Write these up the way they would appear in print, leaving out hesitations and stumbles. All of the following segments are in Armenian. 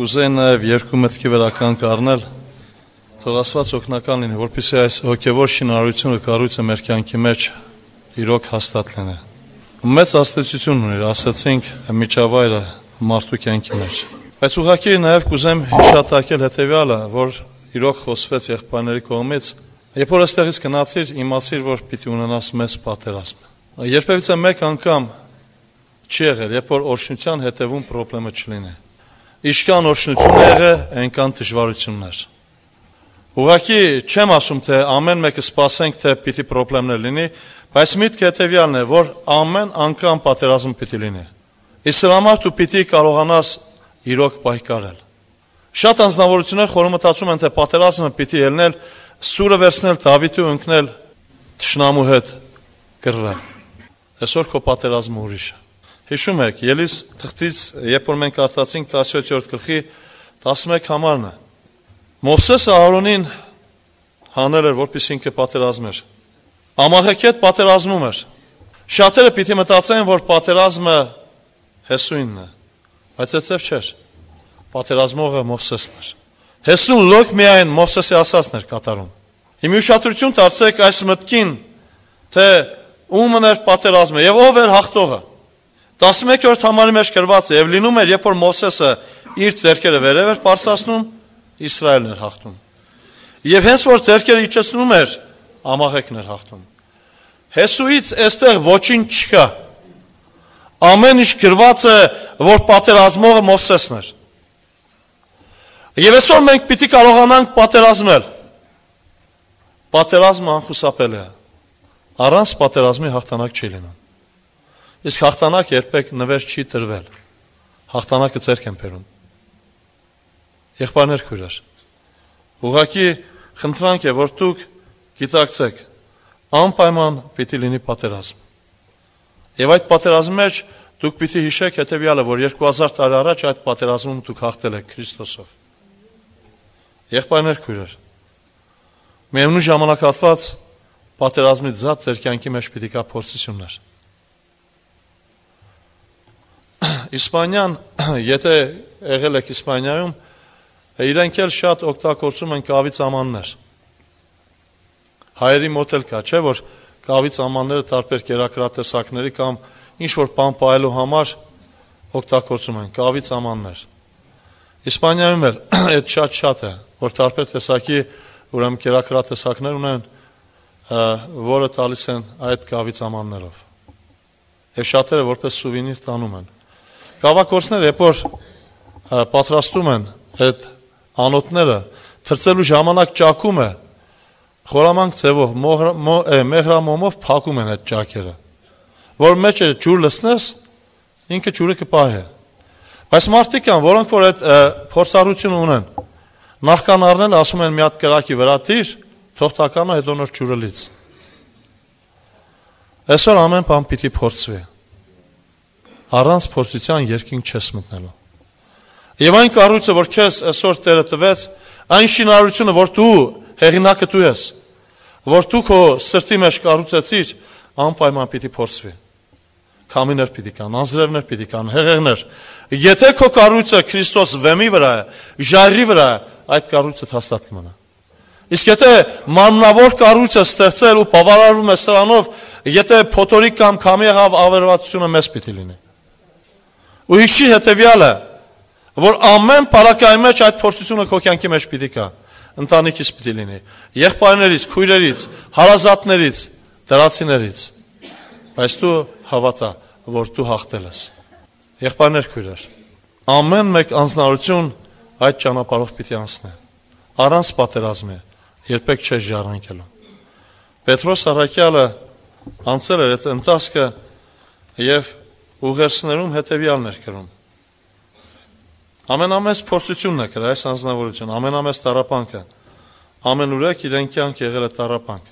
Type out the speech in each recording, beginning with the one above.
կուզեի նաև երկու մտքի վերականք առնել, թող Աստված օգնական լինի, որպեսզի այս հոգևոր շինարարությունը կառույցը մեր կյանքի մեջ իրոք հաստատ լինի։ Մեծ աստեցություն ունի, ասացինք, միջավայրը մարդու կյանքի մեջ։ Բայց ուղղակի նաև կուզեմ հիշատակել հետևյալը, որ իրոք խոսվեց եղբայրների կողմից, երբ որ այստեղից գնացիր, իմացիր, որ պիտի ունենաս մեծ պատերազմ։ Երբևիցե մեկ անգամ չի եղել, երբ որ օրհնության հետևում խնդրեմը չլինի։ Ինչքան օրհնություն է եղել, այնքան դժվարություններ։ Ուղղակի չեմ ասում, թե ամեն մեկը սպասենք, թե պիտի խնդիրներ լինի, բայց միտքը հետևյալն է, որ ամեն անգամ պատերազմ պիտի լինի։ Իսկ դրա համար դու պիտի կարողանաս իրոք պայքարել։ Շատ անձնավորություններ խորհրդացում են, թե պատերազմը պիտի ելնել, սուրը վերցնել, Դավիթը ընկնել, թշնամու հետ կռվել։ Այսօր քո պատերազմը ուրիշ է։ Հիշում եք, Ելիս թղթից, երբ որ մենք կարդացինք 17-րդ գլխի 11 համարն է։ Մովսեսը Ահարոնին հանել էր, որպեսզի ինքը պատերազմեր։ Ամաղեքի հետ պատերազմում էր։ Շատերը պիտի մտածեն, որ պատերազմը Հեսուինն է, բայց այդպես չէր։ Պատերազմողը Մովսեսն էր։ Հեսուն լոկ միայն Մովսեսի ասածն էր կատարում։ Հիմա ուշադրություն դարձրեք այս մտքին, թե ումն էր պատերազմը եւ ով էր հաղթողը։ 11-րդ համարի մեջ գրված է, եւ լինում էր, երբ որ Մովսեսը իր ձեռքերը վերև էր բարձրացնում, Իսրայելն էր հաղթում։ Եվ հենց որ ձեռքերը իջեցնում էր, Ամաղեկն էր հաղթում։ Հեսուից այստեղ ոչինչ չկա։ Ամեն ինչ գրված է, որ պատերազմողը Մովսեսն էր։ Եվ այսօր մենք պիտի կարողանանք պատերազմել։ Պատերազմը անխուսափելի է։ Առանց պատերազմի հաղթանակ չի լինում։ Իսկ հաղթանակ երբեք նվեր չի տրվել։ Հաղթանակը ձեռք են բերում։ Եղբայրներ քույրեր, ուղղակի խնդրանք է, որ դուք գիտակցեք, անպայման պիտի լինի պատերազմ։ Եվ այդ պատերազմի մեջ դուք պիտի հիշեք հետևյալը, որ 2000 տարի առաջ այդ պատերազմում դուք հաղթել եք Քրիստոսով։ Եղբայրներ քույրեր, միևնույն ժամանակահատված պատերազմի ձատ ձեր կյանքի մեջ պիտի կա փորձություններ։ Իսպանիան, եթե եղել եք Իսպանիայում, իրենք էլ շատ օգտագործում են կավի ծամաններ։ Հայերի մոտ էլ կա, չէ, որ կավի ծամանները տարբեր կերակրատեսակների կամ ինչ-որ բան պահելու համար օգտագործում են կավի ծամաններ։ Իսպանիայում էլ այդ շատ է, որ տարբեր տեսակի ուրեմն կերակրատեսակներ ունեն, որը տալիս են այդ կավի ծամաններով։ Եվ շատերը որպես սուվենիր տանում են։ Կավագործները, երբ որ պատրաստում են այդ անոթները, թրծելու ժամանակ ճաքում է, խորամանկ ձևով, մեղրամոմով փակում են այդ ճակերը, որ մեջ ջուր լցնես, ինքը ջուրը կպահի։ Բայց մարդիկ կան, որոնք որ այդ փորձառությունը ունեն, նախքան առնել ասում են մի հատ կրակի վրա դիր, թող տականա հետո նոր ջուրը լից։ Այսօր ամեն բան պիտի փորձվի։ Առանց փորձության երկինք չես մտնելու։ Եվ այն կառույցը, որ քեզ այսօր Տերը տվեց, այն շինարարությունը, որ դու հեղինակը դու ես, որ դու քո սրտի մեջ կառուցեցիր, անպայման պիտի փորձվի։ Քամիներ պիտի կան, անձրևներ պիտի կան, հեղեղներ։ Եթե քո կառույցը Քրիստոս վեմի վրա է, ժայռի վրա է, այդ կառույցը հաստատ կմնա։ Իսկ եթե մանունավոր կառույցը ստեղծել ու բավարարվում է սրանով, եթե փոթորիկ կամ քամիեղավ ավերվածությունը մեզ պիտի լինի։ Ու հիշի հետևյալը, որ ամեն պարակայի մեջ այդ փորձությունը քո կյանքի մեջ պիտի կա, ընտանիքից պիտի լինի, եղբայրներից, քույրերից, հարազատներից, դրացիներից, բայց դու հավատա, որ դու հաղթել ես։ Եղբայրներ, քույրեր, ամեն մեկ անձնարություն այդ ճանապարհով պիտի անցնի, առանց պատերազմի, երբեք չես ժառանգելու։ Պետրոս առաքյալը անցել էր այդ ընթացքը եւ ուղերձներում հետևյալն էր գրում. ամենամեծ փորձությունն է կրել այս անձնավորությունը, ամենամեծ տառապանքը, ամենուրեք իրեն կյանք եղել է տառապանք,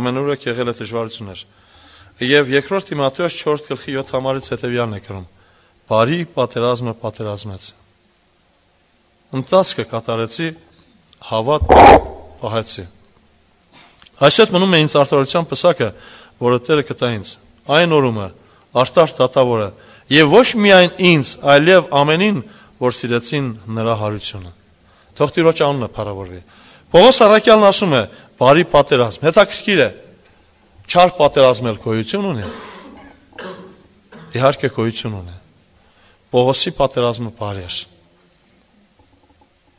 ամենուրեք եղել է դժվարություններ։ Եվ երկրորդ Տիմոթեոս 4 գլխի 7 համարից հետևյալն է գրում. բարի պատերազմը պատերազմեց։ Ընթացքը կատարեցի, հավատ պահեցի։ Այսօր մնում է ինձ արտարության պսակը, որը Տերը կտա ինձ, այն օրումը արտար դատավորը, եւ ոչ միայն ինձ, այլև ամենին, որ սիրեցին նրա հարությունը։ Թող Տիրոջ անունը փառավորվի։ Պողոս առաքյալն ասում է, բարի պատերազմ, հետաքրքիր է, չար պատերազմել գոյություն ունի։ Իհարկե գոյություն ունի։ Պողոսի պատերազմը բարի էր։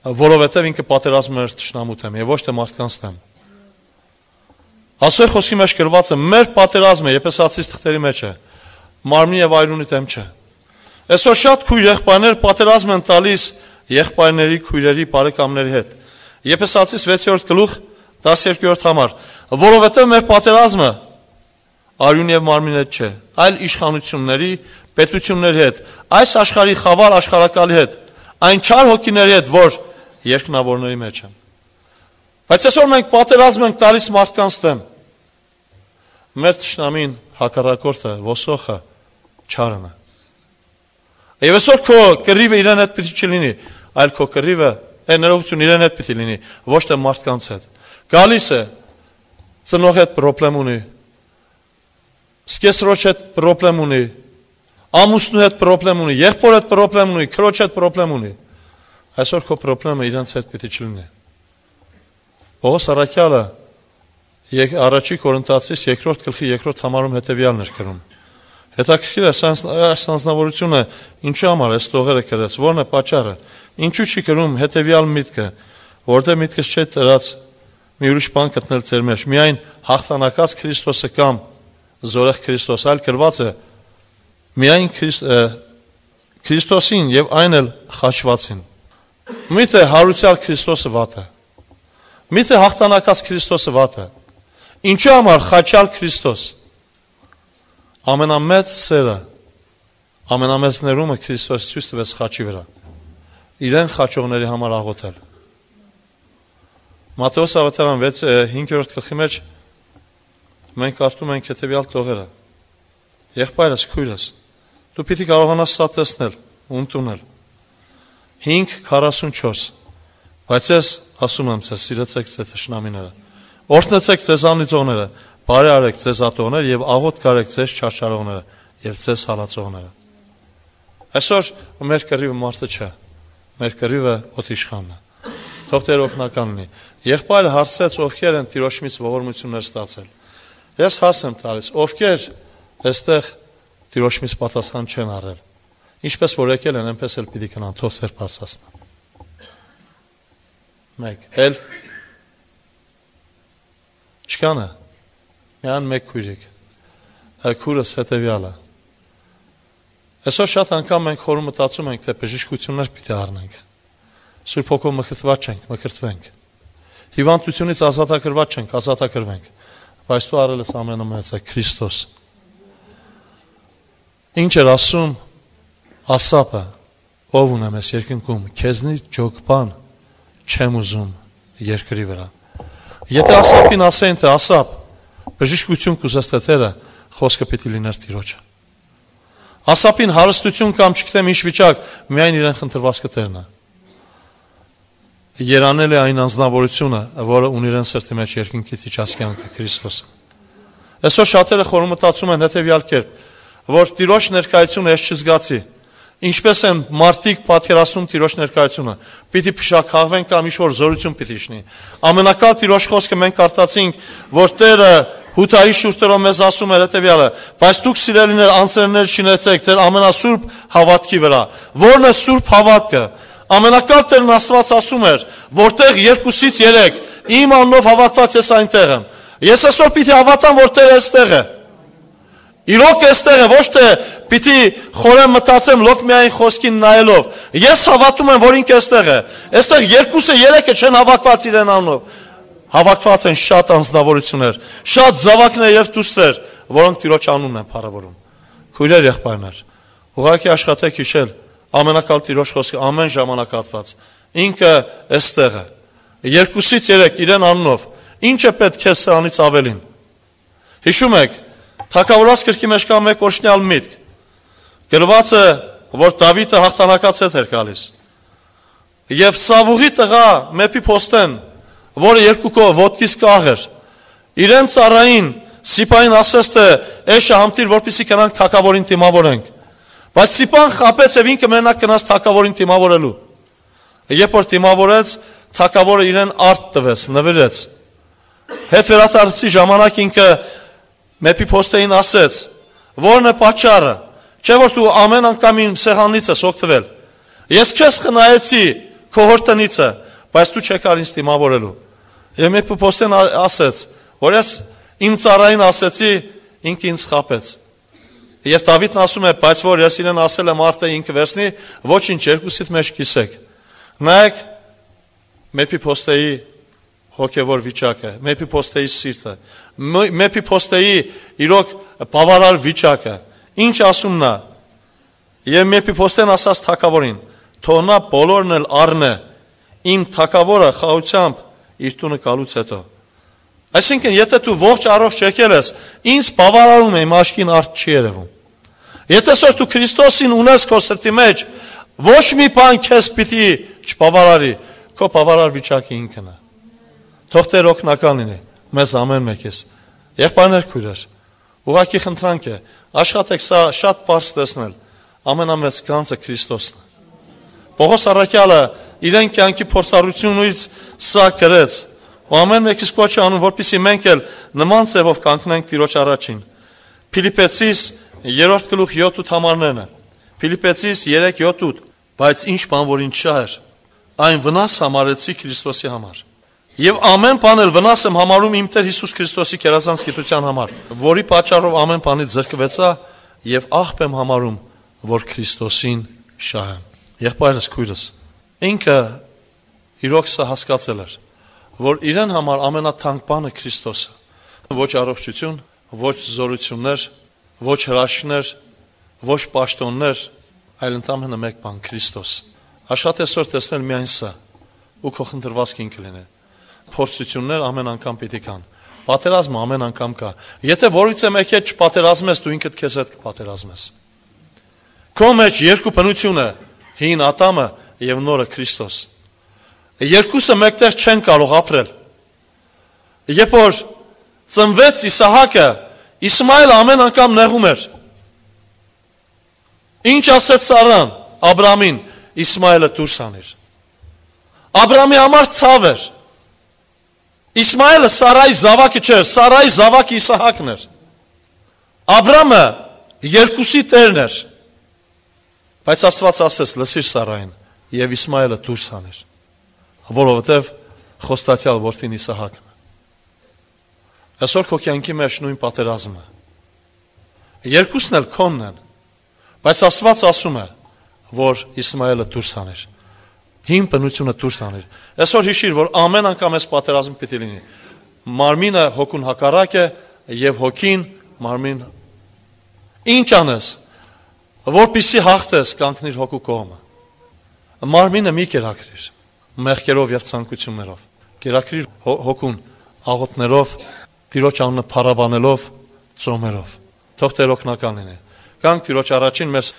Որովհետև ինքը պատերազմում էր թշնամու դեմ եւ ոչ թե մարդկանց դեմ։ Աստծո խոսքի մեջ գրված է, մեր պատերազմը Եփեսացիս թղթերի մեջ է, մարմնի եւ այրունի դեմ չէ։ Այսօր շատ քույր եղբայրներ պատերազմ են տալիս եղբայրների, քույրերի, բարեկամների հետ։ Եփեսացիս 6-րդ գլուխ 12-րդ համար, որովհետև մեր պատերազմը արյուն եւ մարմնի հետ չէ, այլ իշխանությունների, պետությունների հետ, այս աշխարհի խավար աշխարհակալի հետ, այն չար հոգիների հետ, որ երկնավորների մեջ են։ Բայց այսօր մենք պատերազմ ենք տալիս մարդկանց դեմ։ Մեր թշնամին, հակառակորդը, ոսոխը չարն է։ Եվ այսօր քո կռիվը իրեն հետ պիտի չլինի, այլ քո կռիվը ներողություն իրեն հետ պիտի լինի, ոչ թե մարդկանց հետ։ Գալիս է, ծնող հետ պրոբլեմ ունի, սկեսրոջ հետ պրոբլեմ ունի, ամուսնու հետ պրոբլեմ ունի, եղբոր հետ պրոբլեմ ունի, քրոջ հետ պրոբլեմ ունի։ Այսօր քո պրոբլեմը իրենց հետ պիտի չլինի։ Պողոս առաքյալը առաջի Կորինթացիս 2-րդ գլխի 2-րդ համարում հետևյալն էր գրում։ Հետաքրքիր է այս անձնավորությունը ինչու համար այս տողերը գրեց, որն է պատճառը։ Ինչու չի գրում հետևյալ միտքը, որտեղ միտքս չէ դրած մի ուրիշ բան գտնել ձեր մեջ, միայն հաղթանակած Քրիստոսը կամ զորեղ Քրիստոս, այլ գրված է միայն Քրիստոսին եւ այն էլ խաչվածին։ Միթե հարուցյալ Քրիստոսը վատ է։ Միթե հաղթանակած Քրիստոսը վատ է։ Ինչու համար խաչյալ Քրիստոս։ Ամենամեծ սերը, ամենամեծ ներումը Քրիստոս ցույց տվեց խաչի վրա։ Իրեն խաչողների համար աղոթել։ Մատթեոս ավետարան 5-րդ գլխի մեջ մենք կարդում ենք հետևյալ տողերը. Եղբայրս, քույրս, դու պիտի կարողանաս սա տեսնել ու ընդունել։ 5:44 Բայց ես ասում եմ ձեզ, սիրեցեք ձեր թշնամիները, օրհնեցեք ձեզ անիծողները, բարի արեք ձեզ ատողները եւ աղոթք արեք ձեզ չարչարողները եւ ձեզ հալածողները։ Այսօր մեր կռիվը մարդը չէ, մեր կռիվը օտիշխանն է։ Թող Տեր օգնական լինի։ Եղբայրը հարցեց, ովքեր են Տիրոջից ողորմություններ ստացել։ Ես հարց եմ տալիս, ովքեր այստեղ Տիրոջից պատասխան չեն առել։ Ինչպես որ եկել են, այնպես էլ պիտի գնան, թող Տեր բարձրացնի։ Մեկ, էլ չկան է, միան մեկ քույրիկ, քուրս հետևյալը։ Այսօր շատ անգամ մենք խորում մտածում ենք, թե բժշկություններ պիտի առնենք։ Սուրբ Հոգով մկրտված չենք, մկրտվենք։ Հիվանդությունից ազատագրված չենք, ազատագրվենք։ Բայց դու արել ես ամենամեծը Քրիստոս։ Ինչ էր ասում Ասապը, ով ունեմ ես երկնքում, քեզնից ջոկ բան չեմ ուզում երկրի վրա։ Եթե Ասապին ասեն, թե Ասապ, բժշկություն կուզես տերը, խոսքը պիտի լիներ Տիրոջը։ Ասապին հարստություն կամ չգիտեմ ինչ վիճակ, միայն իրեն խնդրված կտերն է։ Երանել է այն անձնավորությունը, որը ունի իրեն սրտի մեջ երկնքից իջած կյանքը Քրիստոսը։ Այսօր շատերը խորում մտածում են հետևյալ կերպ, որ Տիրոջ ներկայությունը ես չզգացի։ Ինչպես են մարդիկ պատկերացնում Տիրոջ ներկայությունը, պիտի փշաքաղվեն կամ ինչ-որ զորություն պիտի իջնի։ Ամենակալ Տիրոջ խոսքը մենք կարդացինք, որ Տերը Հութայի շուրթերով մեզ ասում էր հետևյալը, բայց դուք սիրելիներ անձրևներ չնեցեք ձեր ամենասուրբ հավատքի վրա։ Որն է սուրբ հավատքը։ Ամենակալ Տերն Աստված ասում էր, որտեղ 2-ից 3 իմ անունով հավատված ես այնտեղ եմ։ Ես այսօր պիտի հավատամ, որ Տերը այստեղ է։ Իրոք այստեղ է, ոչ թե պիտի խորեմ մտածեմ լոկ միայն խոսքին նայելով։ Ես հավատում եմ, որ ինքը այստեղ է։ Այստեղ 2-ը 3-ը չեն հավատված իրեն անունով։ Հավաքված են շատ անձնավորություններ, շատ զավակներ եւ դուստեր, որոնք Տիրոջ անունն են փառավորում։ Քույրեր, եղբայրներ, ուղղակի աշխատեք հիշել ամենակալ Տիրոջ խոսքը ամեն ժամանակ հատված։ Ինքը այստեղ է։ 2-ից 3 իրեն անունով։ Ինչ է պետք քեզ սրանից ավելին։ Հիշում եք, Թագավորաց գրքի մեջ կա մեկ օրհնյալ միտք։ Գրված է, որ Դավիթը հաղթանակած էր գալիս։ Եվ Սավուղի տղա Մեփի Փոստեն, որը 2 կողմ ոտքից կաղ էր, իրեն ծառային Սիպային ասեց, թե «Էշը համտիր, որպեսզի գնանք թագավորին դիմավորենք»։ Բայց Սիպան խապեց եւ ինքը մենակ գնաց թագավորին դիմավորելու։ Երբ որ դիմավորեց, թագավորը իրեն արդ տվեց, նվիրեց։ Հետ վերադարձի ժամանակ ինքը Մեփիփոստեին ասեց. «Որն է պատճառը, չէ՞ որ դու ամեն անգամ իմ սեղանից ես օգտվել։ Ես քեզ խնայեցի քո հորտնիցը, բայց դու չեկար ինձ դիմավորելու»։ Եվ Մեփիփոստեն ասեց, որ ես իմ ծառային ասեցի, ինքը ինձ խապեց։ Եվ Դավիթն ասում է, բայց որ ես իրեն ասել եմ արդեն ինքը վերցնի, ոչինչ երկուսիդ մեջ կիսեք։ Նայեք Մեփիփոստեի հոգևոր վիճակը, Մեփիփոստեի սիրտը, Մեփիփոստեի իրոք բավարար վիճակը։ Ինչ ասում նա։ Եվ Մեփիփոստեն ասաց թագավորին. «Թող նա բոլորն էլ առնե, իմ թագավորը խաղությամբ իր տունը գալուց հետո»։ Այսինքն, եթե դու ողջ առողջ եկել ես, ինձ բավարարում է իմ աչքին արդ չի երևում։ Եթե որ դու Քրիստոսին ունես քո սրտի մեջ, ոչ մի բան քեզ պիտի չբավարարի, քո բավարար վիճակը ինքն է։ Թող Տեր օգնական լինի մեզ ամեն մեկից։ Եղբայրներ, քույրեր, ուղղակի խնդրանք է, աշխատեք սա շատ բարձ տեսնել, ամենամեծ գանձը Քրիստոսն է։ Պողոս առաքյալը իրեն կյանքի փորձառությունից սա գրեց, ու ամեն մեկից կոչ է անում, որպեսզի մենք էլ նման ձևով կանգնենք Տիրոջ առաջին։ Փիլիպպեցիս 3:7 համարներն է։ Փիլիպպեցիս 3:7, բայց ինչ բան որ ինձ շահեր, այն վնաս համարեցի Քրիստոսի համար։ Եվ ամեն բան էլ վնաս եմ համարում իմ Տեր Հիսուս Քրիստոսի կերազանց գիտության համար, որի պատճառով ամեն բանից զրկվեցա եւ աղբ եմ համարում, որ Քրիստոսին շահեմ։ Եղբայրս, քույրս, ինքը իրոք սա հասկացել էր, որ իրեն համար ամենաթանկ բանը Քրիստոսը։ Ոչ առողջություն, ոչ զորություններ, ոչ հրաշքներ, ոչ պաշտոններ, այլ ընդամենը մեկ բան Քրիստոս։ Աշխատես որ տեսնել միայն սա, ու քո խնդրվածքին կլինի։ Փորձություններ ամեն անգամ պիտի կան։ Պատերազմը ամեն անգամ կա։ Եթե որից եմ եկել չպատերազմես, դու ինքդ քեզ հետ կպատերազմես։ Քո մեջ երկու բնություն է, հին Ադամը եւ նորը Քրիստոս։ Երկուսը մեկտեղ չեն կարող ապրել։ Երբ որ ծնվեց Իսահակը, Իսմայելը ամեն անգամ նեղում էր։ Ինչ ասեց Սարան Աբրամին, Իսմայելը դուրս անիր։ Աբրամի համար ցավ էր։ Իսմայելը Սարայի զավակը չէր, Սարայի զավակը Իսահակն էր։ Աբրամը երկուսի տերն էր։ Բայց Աստված ասեց լսիր Սարային եւ Իսմայելը դուրս անիր, որովհետեւ խոստացյալ որդին Իսահակն է։ Այսօր քո կյանքի մեջ նույն պատերազմը։ Երկուսն էլ քոնն են, բայց Աստված ասում է, որ Իսմայելը դուրս անիր, հին բնությունը դուրս անիր։ Այսօր հիշիր, որ ամեն անգամ այս պատերազմը պիտի լինի։ Մարմինը հոգուն հակառակ է եւ հոգին մարմին։ Ինչ անես, որպեսզի հաղթես, կանգնիր հոգու կողմը։ Մարմինը մի կերակրիր, մեղքերով եւ ցանկություններով։ Կերակրիր հոգուն աղոթներով, Տիրոջ անունը փառաբանելով, ծոմերով։ Թող Տեր օգնական լինի։ Գանք Տիրոջ առաջին, մեզ